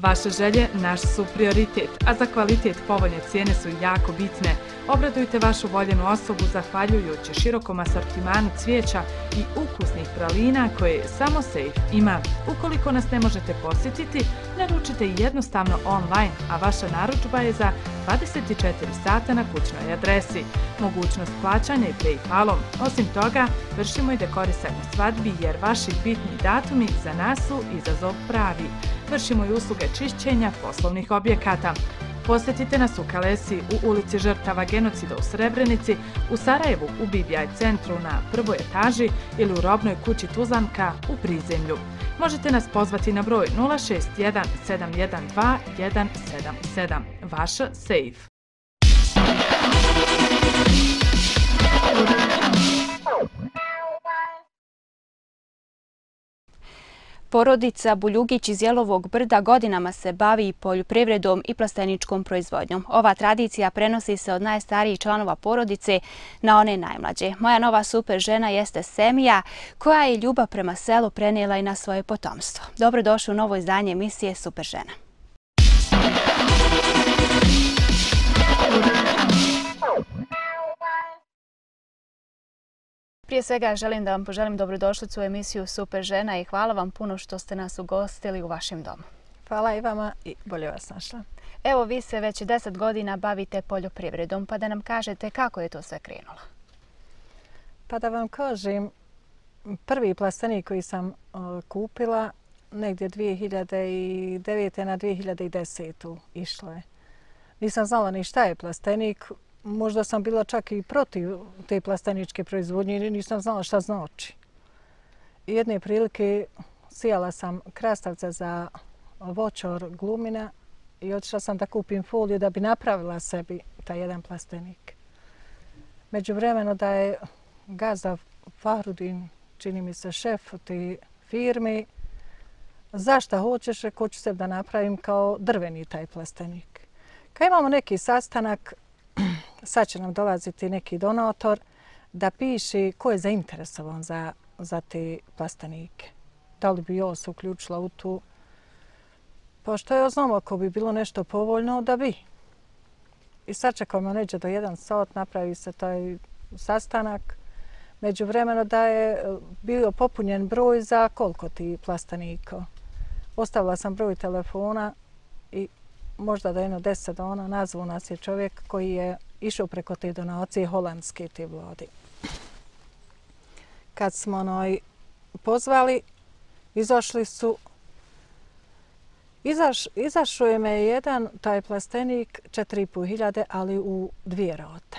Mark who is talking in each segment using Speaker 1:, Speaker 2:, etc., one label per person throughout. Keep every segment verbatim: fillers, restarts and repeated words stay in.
Speaker 1: Vaše želje naš su prioritet, a za kvalitet povoljne cijene su jako bitne. Obradujte vašu voljenu osobu zahvaljujući širokom asortimanu cvijeća i ukusnih pralina koje samo Safe ima. Ukoliko nas ne možete posjetiti, naručite i jednostavno online, a vaša narudžba je za dvadeset četiri sata na kućnoj adresi. Mogućnost plaćanja i PayPalom. Osim toga, vršimo i dekorisanje svadbi jer vaši bitni datumi za nas su izazov pravi. Vršimo i usluge čišćenja poslovnih objekata. Posjetite nas u Kalesi, u ulici žrtava genocida u Srebrenici, u Sarajevu u B B I centru na prvoj etaži ili u robnoj kući Tuzlanka u prizemlju. Možete nas pozvati na broj nula šest jedan sedam jedan dva jedan sedam sedam. Vaša Safe.
Speaker 2: Porodica Buljugić iz Jelovog Brda godinama se bavi poljoprivredom i plasteničkom proizvodnjom. Ova tradicija prenosi se od najstarijih članova porodice na one najmlađe. Moja nova super žena jeste Semija, koja je ljubav prema selu prenijela i na svoje potomstvo. Dobrodošli u novo izdanje emisije Super žena. Prije svega želim da vam poželim dobrodošlicu u emisiju Super žena i hvala vam puno što ste nas ugostili u vašem domu.
Speaker 3: Hvala i vama i bolje vas našla.
Speaker 2: Evo, vi se već deset godina bavite poljoprivredom, pa da nam kažete kako je to sve krenulo.
Speaker 3: Pa da vam kažem, prvi plastenik koji sam uh, kupila negdje dvije hiljade devete na dvije hiljade desete išlo je. Nisam znala ni šta je plastenik. Možda sam bila čak i protiv te plasteničke proizvodnje i nisam znala šta znači. I jedne prilike sijala sam krastavce za voćor glumina i otišla sam da kupim foliju da bi napravila sebi taj jedan plastenik. Međuvremeno da je gazda Fahrudin, čini mi se šef te firme, zašta hoćeš, hoću sebi da napravim kao drveni taj plastenik. Kad imamo neki sastanak, sad će nam dolaziti neki donator da piše ko je zainteresovan za, za te plastenike. Da li bi ja se uključila u tu? Pošto ja znam ako bi bilo nešto povoljno, da bi. I sad čekamo neđe do jedan sat, napravi se taj sastanak. Međuvremeno da je bio popunjen broj za koliko ti plastenika. Ostavila sam broj telefona i možda do jedno deset dana nazvao nas je čovjek koji je išao preko te donacije holandske te vlade. Kad smo onoj pozvali, izašli su, izaš, izašao je me jedan taj plastenik četiri i po hiljade, ali u dvije rate.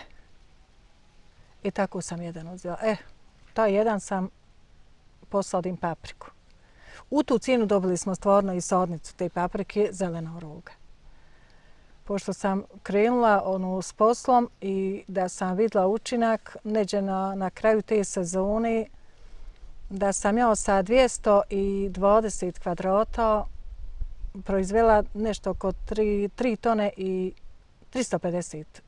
Speaker 3: I tako sam jedan uzela. E, taj jedan sam posadim papriku. U tu cijenu dobili smo stvarno i sadnicu te paprike zelena roga. Pošto sam krenula ono, s poslom i da sam vidjela učinak neđe na, na kraju te sezone, da sam ja sa dvjesto dvadeset kvadrata proizvela nešto oko tri tone i tristo pedeset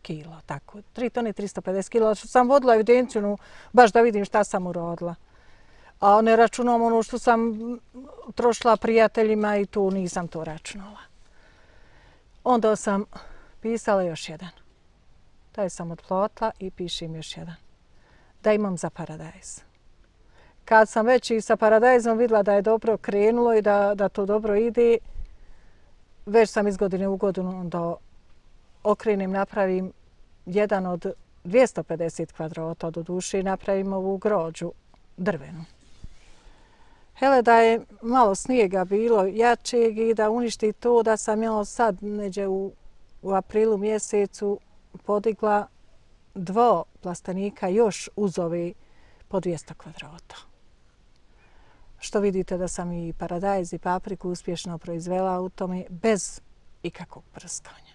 Speaker 3: kila. Tako, tri tone i tristo pedeset kila. Što sam vodila evidenciju, no, baš da vidim šta sam urodila. A ne računam ono što sam trošila prijateljima i tu nisam to računala. Onda sam pisala još jedan. Taj sam otplotila i pišem još jedan. Da imam za paradajz. Kad sam već i sa paradajzom vidjela da je dobro krenulo i da, da to dobro ide, već sam iz godine u godinu da okrenem, napravim jedan od dvjesto pedeset kvadrata do duše i napravim ovu grođu drvenu. Hele, da je malo snijega bilo jačeg i da uništi to, da sam ja sad neđe u, u aprilu mjesecu podigla dva plastenika još uz ove po dvjesto kvadrata. Što vidite da sam i paradajz i papriku uspješno proizvela u tome bez ikakvog prskanja.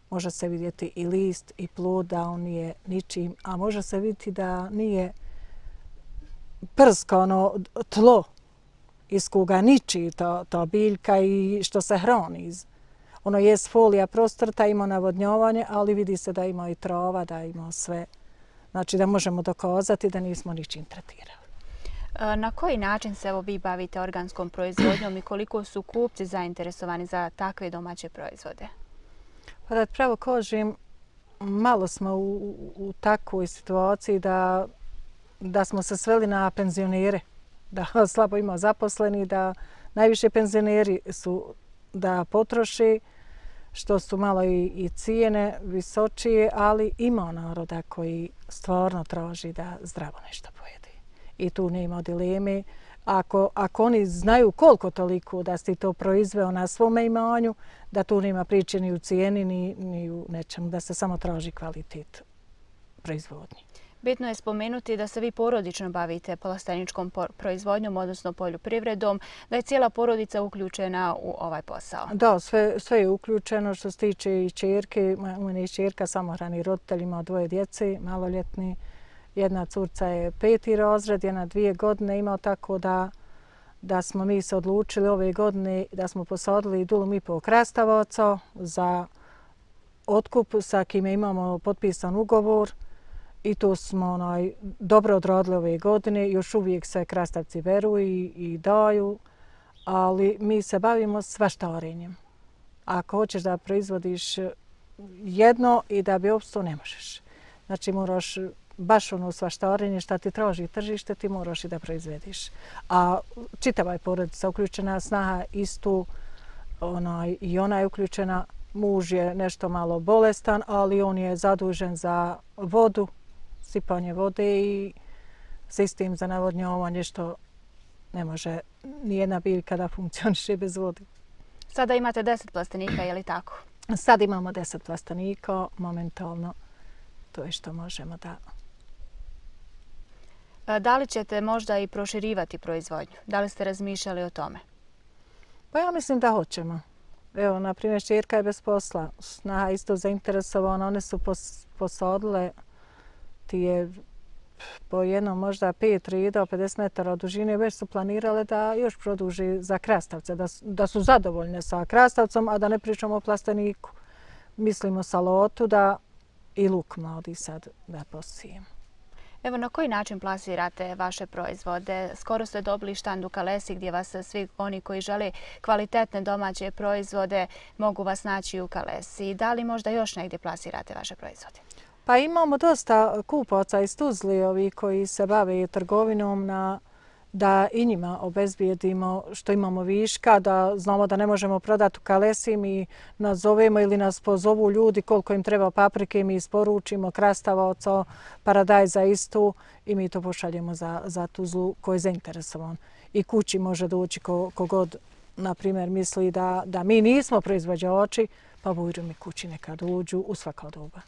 Speaker 3: Može se vidjeti i list i plod da on nije ničim, a može se vidjeti da nije prskano tlo iz koga niči to, to biljka i što se hrani. Ono je folija prostrta, ima navodnjavanje, ali vidi se da ima i trova, da ima sve. Znači da možemo dokazati da nismo ničim tretirali.
Speaker 2: Na koji način se evo vi bavite organskom proizvodnjom i koliko su kupci zainteresovani za takve domaće proizvode?
Speaker 3: Pa da pravo kažem, malo smo u, u takvoj situaciji da, da smo se sveli na penzionere, da slabo ima zaposleni, da najviše penzioneri su da potroši, što su malo i, i cijene visočije, ali ima naroda koji stvarno traži da zdravo nešto pojede. I tu nema dileme. Ako, ako oni znaju koliko toliko da si to proizveo na svome imanju, da tu nema priče ni u cijeni, ni, ni u nečemu, da se samo traži kvalitet proizvodnje.
Speaker 2: Bitno je spomenuti da se vi porodično bavite plasteničkom proizvodnjom, odnosno poljoprivredom, da je cijela porodica uključena u ovaj posao.
Speaker 3: Da, sve, sve je uključeno što se tiče i čerke. Mene je čerka samohrani roditelj, ima dvoje djece, maloljetni. Jedna curca je peti razred, jedna dvije godine ima, tako da, da smo mi se odlučili ove godine da smo posadili dulum i pol krastavaca za otkup sa kime imamo potpisan ugovor. I to smo onaj, dobro odradili ove godine. Još uvijek se krastavci beru i, i daju, ali mi se bavimo svaštarenjem. Ako hoćeš da proizvodiš jedno i da bi opstao, ne možeš. Znači moraš baš ono svaštarenje šta ti traži tržište, ti moraš i da proizvediš. A čitava je porodica uključena, snaha istu, onaj, i ona je uključena. Muž je nešto malo bolestan, ali on je zadužen za vodu, sipanje vode i sistem za navodnjavanje, što ne može nijedna biljka da funkcioniše bez vode.
Speaker 2: Sada imate deset plastenika, je li tako?
Speaker 3: Sad imamo deset plastenika, momentalno to je što možemo da...
Speaker 2: Da li ćete možda i proširivati proizvodnju? Da li ste razmišljali o tome?
Speaker 3: Pa ja mislim da hoćemo. Evo, na primjer, čerka je bez posla. Snaha isto zainteresovana. One su pos, posadile ti je po jednom možda pet rida, pedeset metara od dužine. Već su planirale da još produži za krastavce, da, da su zadovoljne sa krastavcom, a da ne pričamo o plasteniku. Mislimo salatu da i luk mladi sad da posijemo.
Speaker 2: Evo, na koji način plasirate vaše proizvode? Skoro ste dobili štand u Kalesi gdje vas svi oni koji žele kvalitetne domaće proizvode mogu vas naći u Kalesi. Da li možda još negdje plasirate vaše proizvode?
Speaker 3: Pa imamo dosta kupaca iz Tuzli ovi koji se bave trgovinom na, da i njima obezbijedimo što imamo viška, da znamo da ne možemo prodati u Kalesi, mi nazovemo ili nas pozovu ljudi koliko im treba paprike, mi isporučimo krastavaca, paradajza istu i mi to pošaljemo za, za Tuzlu koji je zainteresovan. I kući može doći ko, kogod, na primjer, misli da, da mi nismo proizvođači, pa bujru mi kući nekad uđu u svako doba.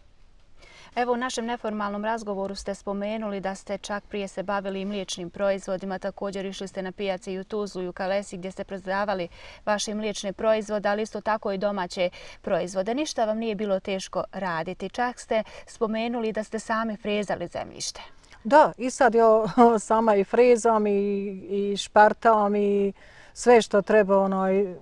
Speaker 2: Evo, u našem neformalnom razgovoru ste spomenuli da ste čak prije se bavili i mliječnim proizvodima. Također išli ste na pijaci i u Tuzlu i u Kalesi gdje ste prodavali vaše mliječne proizvode, ali isto tako i domaće proizvode. Ništa vam nije bilo teško raditi. Čak ste spomenuli da ste sami frezali zemljište.
Speaker 3: Da, i sad ja sama i frezam i, i špartam i sve što treba, onaj,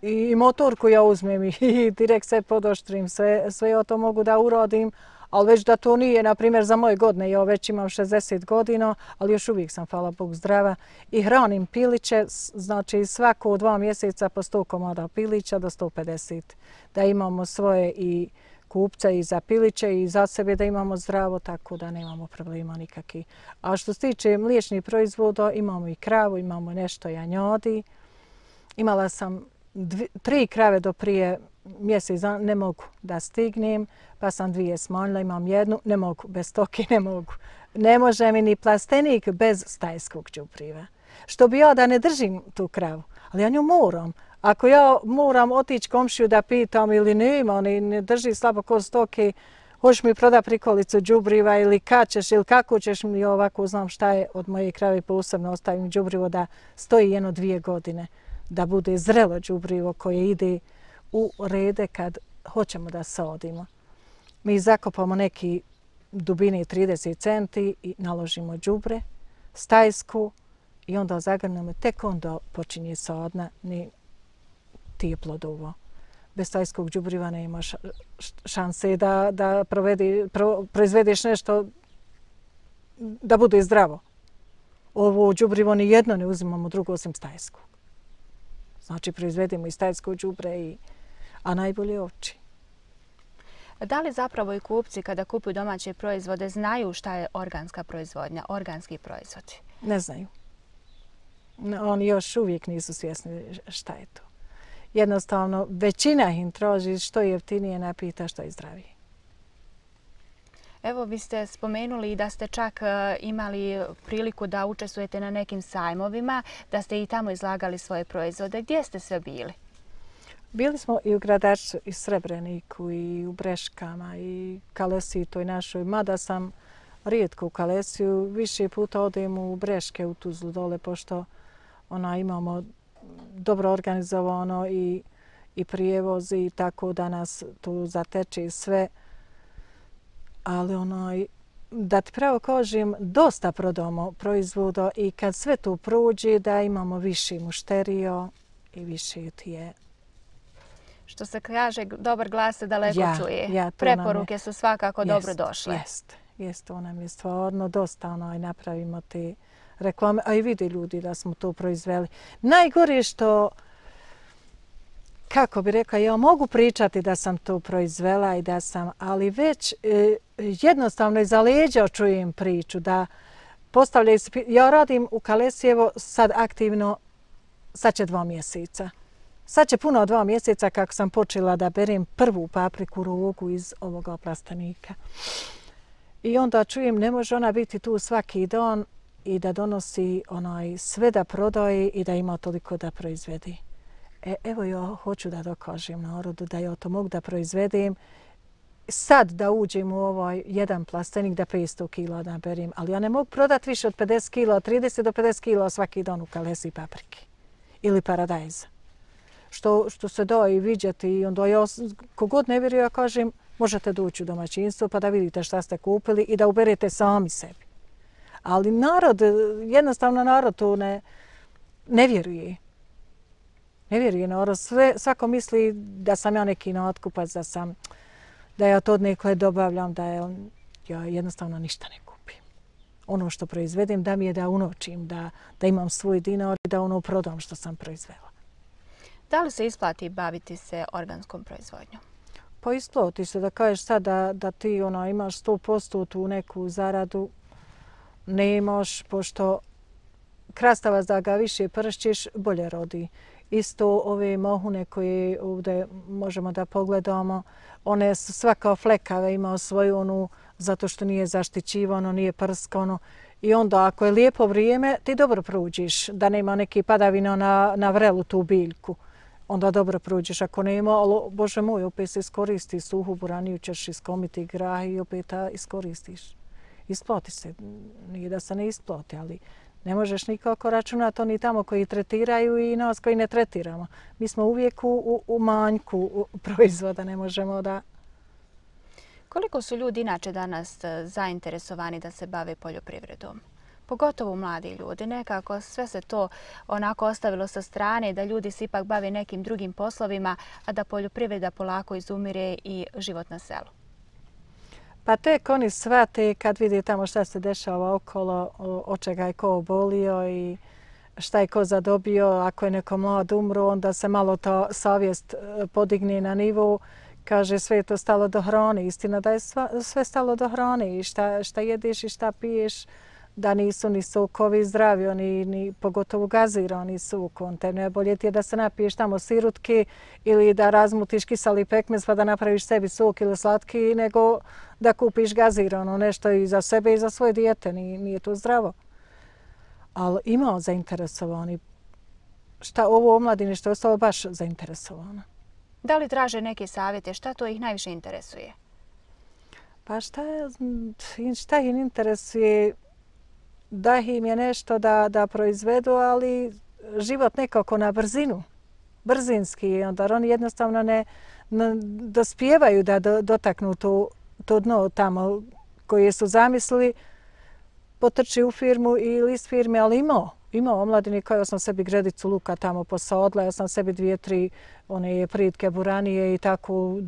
Speaker 3: i motorku ja uzmem i direkt sve podoštrim, sve, sve ja to mogu da uradim. Ali već da to nije, na primjer, za moje godine. Ja već imam šezdeset godina, ali još uvijek sam, hvala Bogu, zdrava. I hranim piliće, znači svako dva mjeseca po sto komada pilića do sto pedeset. Da imamo svoje i kupce i za piliće i za sebe da imamo zdravo, tako da nemamo problema nikakvih. A što se tiče mliječnih proizvoda, imamo i kravu, imamo nešto janjadi. Imala sam dvi, tri krave do prije mjesec, ne mogu da stignem, pa sam dvije smanjila, imam jednu, ne mogu, bez stoke ne mogu. Ne može mi ni plastenik bez stajskog đubriva. Što bi ja da ne držim tu kravu, ali ja nju moram. Ako ja moram otići komšiju da pitam ili nema, oni ne drži slabo ko stoke, hoćeš mi proda prikolicu đubriva ili kad ćeš ili kako ćeš mi, ovako znam šta je od moje krave, posebno ostavim đubrivo da stoji jedno dvije godine, da bude zrelo đubrivo koje ide u rede kad hoćemo da sadimo. Mi zakopamo neki dubine trideset centi i naložimo đubre, stajsku i onda zagrnemo, tek onda počinje sadnja ni tije plodovo. Bez stajskog đubriva nema šanse da, da provedi, pro, proizvedeš nešto da bude zdravo. ovo đubrivo ni jedno ne uzimamo drugo osim stajskog. Znači proizvedemo i stajsko đubre, i, a najbolje ovči.
Speaker 2: Da li zapravo i kupci kada kupuju domaće proizvode znaju šta je organska proizvodnja, organski proizvodi?
Speaker 3: Ne znaju. Oni još uvijek nisu svjesni šta je to. Jednostavno, većina im traži što je jeftinije, napita što je zdravije.
Speaker 2: Evo, vi ste spomenuli da ste čak imali priliku da učestvujete na nekim sajmovima, da ste i tamo izlagali svoje proizvode. Gdje ste sve bili?
Speaker 3: Bili smo i u Gradačcu, i Srebreniku, i u Breškama, i Kalesiji toj našoj. Mada sam rijetko u Kalesiju, više puta odem u Breške, u Tuzlu dole, pošto ona imamo dobro organizovano i, i prijevoz, i tako da nas tu zateče sve. Ali onaj, da ti pravo kažem, dosta prodamo proizvoda i kad sve to prođe da imamo više mušterio i više ti je.
Speaker 2: Što se kaže, dobar glas se daleko
Speaker 3: ja,
Speaker 2: čuje.
Speaker 3: Ja,
Speaker 2: Preporuke je, su svakako
Speaker 3: jest,
Speaker 2: dobro došle.
Speaker 3: Jeste, jest, to nam je stvarno dosta onaj, napravimo te reklame, a i vide ljudi da smo to proizveli. Najgore je što, kako bi rekla, ja mogu pričati da sam to proizvela i da sam, ali već e, jednostavno iza leđa čujem priču da postavljaju se, ja radim u Kalesijevo sad aktivno, sad će dva mjeseca. Sad će puno dva mjeseca kako sam počela da berem prvu papriku rogu iz ovoga plastenika. I onda čujem, ne može ona biti tu svaki dan i da donosi onaj sve da prodaje i da ima toliko da proizvedi. E, evo ja hoću da dokažem narodu da ja to mogu da proizvedem. Sad da uđem u ovaj jedan plastenik da petsto kila naberim, ali ja ne mogu prodati više od pedeset kila, trideset do pedeset kila svaki dan u Kalesiji paprike ili paradajza. Što, što se da i vidjeti, i onda ja kogod ne vjeruje, ja kažem, možete doći u domaćinstvo pa da vidite šta ste kupili i da uberete sami sebi. Ali narod, jednostavno narod to ne, ne vjeruje. Ne vjeruje narod. Sve, svako misli da sam ja neki natkupac, da sam, da ja to od nekle dobavljam, da je, ja jednostavno ništa ne kupim. Ono što proizvedem da mi je da unočim, da, da imam svoj dinar i da ono prodam što sam proizvela.
Speaker 2: Da li se isplati baviti se organskom proizvodnjom?
Speaker 3: Pa isplati se da kažeš sad da, da ti ona, imaš sto posto tu neku zaradu, nemaš, pošto krastavac da ga više pršćiš, bolje rodi. Isto ove mohune koje ovdje možemo da pogledamo, one su svaka flekave, ima svoju onu, zato što nije zaštićivano, nije prskano. I onda ako je lijepo vrijeme, ti dobro prođiš, da nema neki padavina na, na vrelu tu biljku. Onda dobro prođeš. Ako nema, ali Bože moj, opet se iskoristi suhu buraniju, ćeš iskomiti grah i opet iskoristiš. Isplati se. Nije da se ne isplati, ali ne možeš nikako računati oni tamo koji tretiraju i nas koji ne tretiramo. Mi smo uvijek u, u, u manjku u proizvoda, ne možemo da...
Speaker 2: Koliko su ljudi inače danas zainteresovani da se bave poljoprivredom? Pogotovo mladi ljudi. Nekako sve se to onako ostavilo sa strane da ljudi se ipak bave nekim drugim poslovima, a da poljoprivreda polako izumire i život na selu.
Speaker 3: Pa tek oni shvate kad vidi tamo šta se dešava okolo, od čega je ko obolio i šta je ko zadobio. Ako je neko mlad umro, onda se malo ta savjest podigne na nivo. Kaže, sve je to stalo do hrane. Istina da je sve stalo do hrane i šta, šta jedeš i šta piješ, da nisu ni sokovi zdravi, ni, ni pogotovo gazirani sukom. Te najbolje ti je da se napiješ tamo sirutke ili da razmutiš kiseli pekmez pa da napraviš sebi sok ili slatki, nego da kupiš gazirano nešto i za sebe i za svoje dijete. Nije, nije to zdravo. Ali ima zainteresovani. Šta ovo omladine što je ostalo baš zainteresovano.
Speaker 2: Da li traže neke savjete? Šta to ih najviše interesuje?
Speaker 3: Pa šta, šta ih interesuje? Da im je nešto da, da proizvedu, ali život nekako na brzinu, brzinski. Onda oni jednostavno ne, ne dospijevaju da do, dotaknu to, to dno tamo koje su zamislili. Potrči u firmu ili iz firme, ali imao. Imao omladini, kao ja sam sebi gredicu luka tamo posadla, ja sam sebi dvije, tri one pritke buranije i tako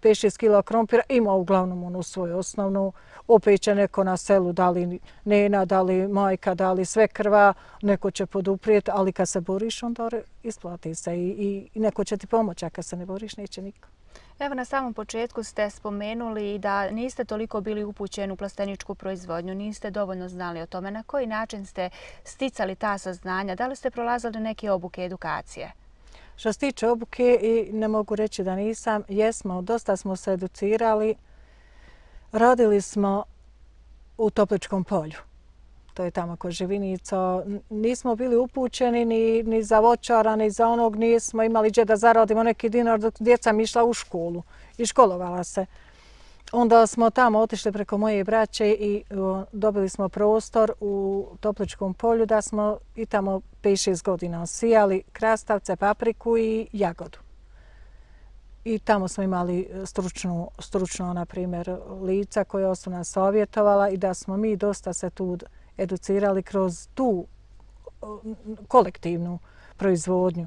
Speaker 3: pet šest kila krompira, ima uglavnom onu svoju osnovnu. Opet će neko na selu, da li nena, da li majka, da li svekrva, neko će poduprijeti, ali kad se boriš, onda isplati se i, i neko će ti pomoći, a kad se ne boriš, neće niko.
Speaker 2: Evo, na samom početku ste spomenuli da niste toliko bili upućeni u plasteničku proizvodnju, niste dovoljno znali o tome. Na koji način ste sticali ta saznanja? Da li ste prolazili neke obuke, edukacije?
Speaker 3: Što se tiče obuke, i ne mogu reći da nisam, jesmo, dosta smo se educirali. Radili smo u Topličkom polju. To je tamo kod Živinica. Nismo bili upućeni ni, ni za voćara, ni za onog. Nismo imali gdje da zaradimo neki dinar dok djeca mi išla u školu i školovala se. Onda smo tamo otišli preko moje braće i o, dobili smo prostor u Topličkom polju da smo i tamo pet šest godina sijali krastavce, papriku i jagodu. I tamo smo imali stručno, stručno na primjer, lica koja su nas savjetovala i da smo mi dosta se tu educirali kroz tu kolektivnu proizvodnju.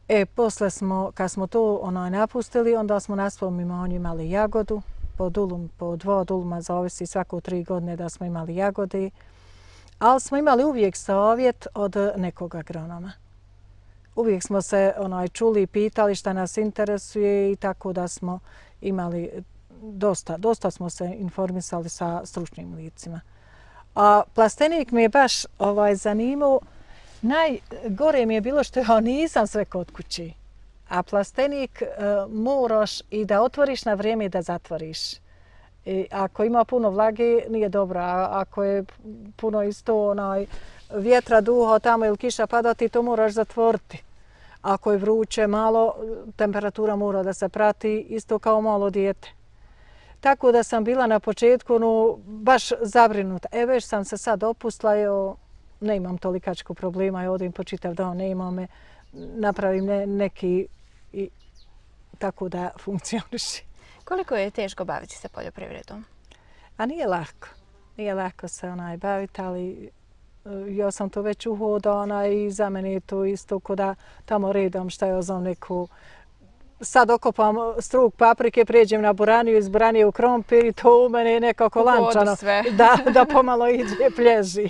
Speaker 3: E, posle smo, kad smo to onaj napustili, onda smo na svom imanju imali jagodu, po dulum, po dva duluma, zavisi svako tri godine da smo imali jagode, ali smo imali uvijek savjet od nekog agronoma. Uvijek smo se onaj čuli i pitali šta nas interesuje i tako da smo imali dosta, dosta smo se informisali sa stručnim licima. A plastenik mi je baš ovaj, zanimao. Najgore mi je bilo što ja nisam sve kod kući. A plastenik e, moraš i da otvoriš na vrijeme i da zatvoriš. I ako ima puno vlage, nije dobro. A ako je puno isto onaj, vjetra, duha tamo ili kiša pada, ti to moraš zatvoriti. Ako je vruće malo, temperatura mora da se prati isto kao malo dijete. Tako da sam bila na početku no, baš zabrinuta. E, već sam se sad opustila, jo, ne imam tolikačko problema, odim po čitav dan, ne imam me, napravim ne, neki i tako da funkcioniši.
Speaker 2: Koliko je teško baviti se poljoprivredom?
Speaker 3: A nije lako. Nije lako se onaj baviti, ali ja sam to već uhodala i za mene je to isto ko da tamo redam šta je znam neku. Sad okopam struk paprike, prijeđem na buraniju, iz buranije u krompir i to u mene je nekako lančano. Da, da pomalo ide, plježi.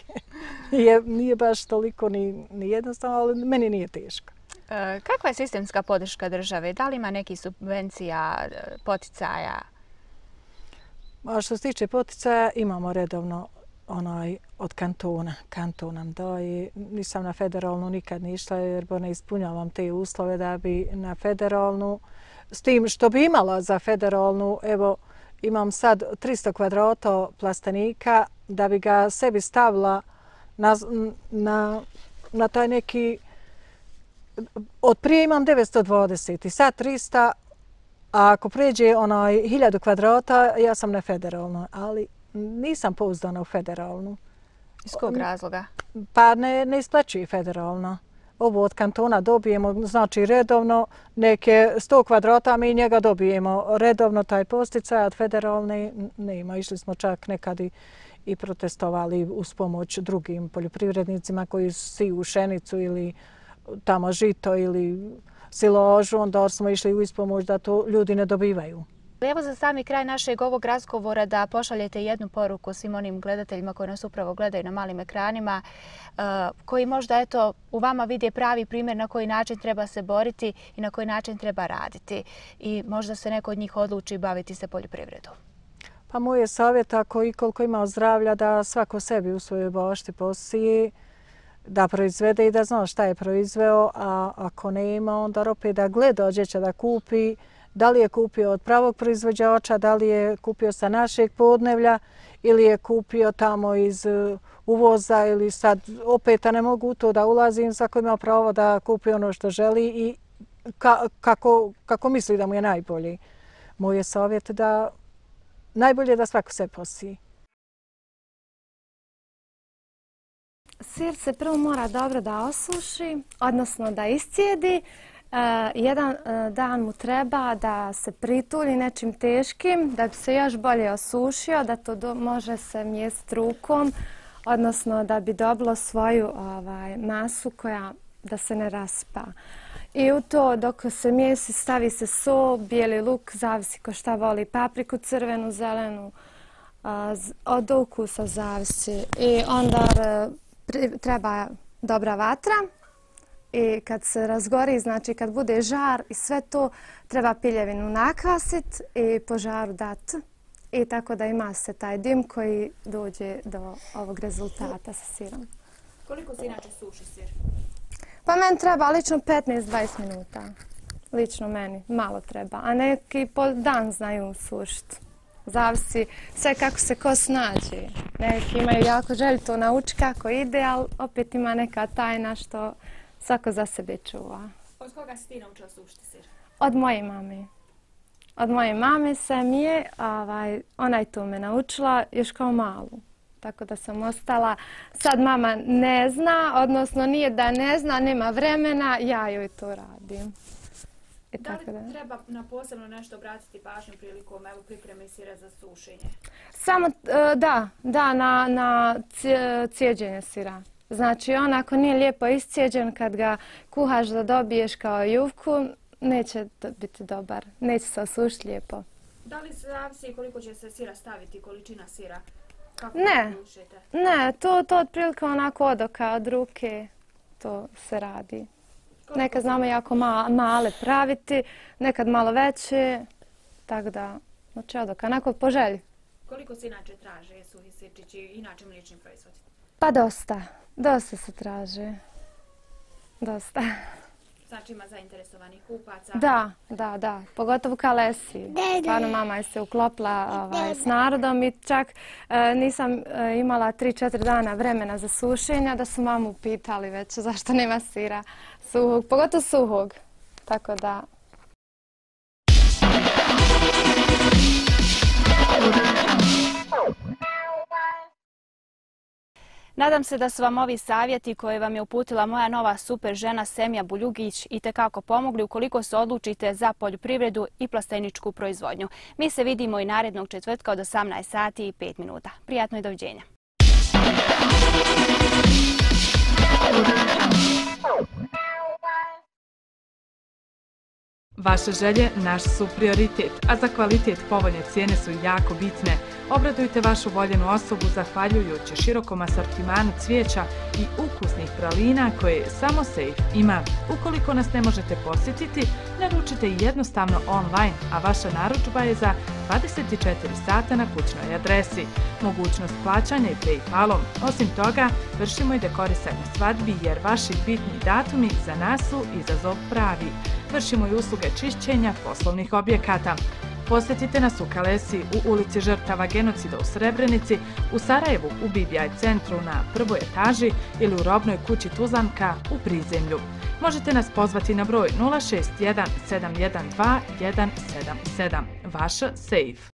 Speaker 3: Nije, nije baš toliko ni, ni jednostavno, ali meni nije teško.
Speaker 2: E, kakva je sistemska podrška države? Da li ima nekih subvencija, poticaja?
Speaker 3: A što se tiče poticaja, imamo redovno onaj od kantona. Kanton nam daje. Nisam na federalnu nikad ni išla jer ne ispunjavam te uslove da bi na federalnu. S tim što bi imala za federalnu, evo imam sad tristo kvadrata plastenika da bi ga sebi stavila na, na, na taj neki. Od prije imam devetsto dvadeset i sad tristo, a ako pređe onaj hiljadu kvadrata ja sam na federalnoj, ali nisam pouzdana u federalnu.
Speaker 2: Iz kog razloga?
Speaker 3: Pa ne, ne isplaćuje federalno. Ovo od kantona dobijemo, znači redovno, neke sto kvadrata mi njega dobijemo redovno taj posticaj, od federalne nema. Išli smo čak nekad i, i protestovali uz pomoć drugim poljoprivrednicima koji siju pšenicu ili tamo žito ili silažu, onda smo išli u ispomoć da to ljudi ne dobivaju.
Speaker 2: Evo za sami kraj našeg ovog razgovora da pošaljete jednu poruku svim onim gledateljima koji nas upravo gledaju na malim ekranima, koji možda eto, u vama vide pravi primjer na koji način treba se boriti i na koji način treba raditi. I možda se neko od njih odluči baviti se poljoprivredom.
Speaker 3: Pa moj je savjet, ako i koliko ima zdravlja, da svako sebi u svojoj bašti posije, da proizvede i da zna šta je proizveo, a ako ne ima, onda opet da gleda gdje će da kupi, da li je kupio od pravog proizvođača, da li je kupio sa našeg podnevlja ili je kupio tamo iz uvoza ili sad opet ne mogu u to da ulazim, svako ima pravo da kupi ono što želi i ka, kako, kako misli da mu je najbolji. Moj je savjet da najbolje da svako se posije.
Speaker 4: Sir se prvo mora dobro da osuši, odnosno da iscijedi. Uh, jedan uh, dan mu treba da se pritulji nečim teškim, da bi se još bolje osušio, da to do, može se mjestiti rukom, odnosno da bi dobilo svoju ovaj, masu koja da se ne raspa. I u to dok se mijesi stavi se so, bijeli luk, zavisi ko šta voli, papriku crvenu, zelenu, od ukusa zavisi. I onda treba dobra vatra i kad se razgori, znači kad bude žar i sve to, treba piljevinu nakvasiti i po žaru dati. I tako da ima se taj dim koji dođe do ovog rezultata sa sirom.
Speaker 2: Koliko se inače suši sir?
Speaker 4: Pa meni treba lično petnaest do dvadeset minuta. Lično meni. Malo treba. A neki po dan znaju sušiti. Zavisi sve kako se ko snađe. Neki imaju jako želju to nauči kako ide, ali opet ima neka tajna što svako za sebe čuva.
Speaker 2: Od koga si ti naučila sušiti sir?
Speaker 4: Od moje mame. Od moje mame sam je, ona je to me naučila još kao malu. Tako da sam ostala. Sad mama ne zna, odnosno nije da ne zna, nema vremena, ja joj to radim.
Speaker 2: Da li treba na posebno nešto obratiti pažnju prilikom pripreme sira za sušenje?
Speaker 4: Samo, da, da, na cijeđenje sira. Znači, on ako nije lijepo iscijeđen, kad ga kuhaš da dobiješ kao jufku, neće biti dobar, neće se osušiti lijepo.
Speaker 2: Da li se zavisi koliko će se sira staviti, količina sira?
Speaker 4: Ne, ne, to otprilike onako odoka od ruke, to se radi. Nekad znamo jako male praviti, nekad malo veće, tako da, znači odoka, onako po želji.
Speaker 2: Koliko se inače traže suhi sirčići i inače mliječni proizvodi?
Speaker 4: Pa dosta, dosta se traže, dosta.
Speaker 2: Znači ima zainteresovanih kupaca?
Speaker 4: Da, da, da, pogotovo Kalesi. Stvarno mama je se uklopila s narodom i čak nisam imala tri četiri dana vremena za sušenja da su mamu pitali već zašto nema sira suhog, pogotovo suhog, tako da...
Speaker 2: Nadam se da su vam ovi savjeti koje vam je uputila moja nova super žena Semija Buljugić itekako pomogli ukoliko se odlučite za poljoprivredu i plasteničku proizvodnju. Mi se vidimo i narednog četvrtka od osamnaest sati i pet minuta. Prijatno i doviđenja.
Speaker 1: Vaše želje naš su prioritet, a za kvalitet povoljne cijene su jako bitne. Obradujte vašu voljenu osobu zahvaljujući širokom asortimanu cvijeća i ukusnih pralina koje samo Safe ima. Ukoliko nas ne možete posjetiti, naručite jednostavno online, a vaša narudžba je za dvadeset četiri sata na kućnoj adresi. Mogućnost plaćanja i PayPalom. Osim toga, vršimo i dekorisanje svadbi jer vaši bitni datumi za nas su izazov pravi. Vršimo i usluge čišćenja poslovnih objekata. Posjetite nas u Kalesi u ulici Žrtava genocida u Srebrenici, u Sarajevu u B B I centru na prvoj etaži ili u robnoj kući Tuzlanka u prizemlju. Možete nas pozvati na broj nula šest jedan sedam jedan dva jedan sedam sedam. Vaša Safe.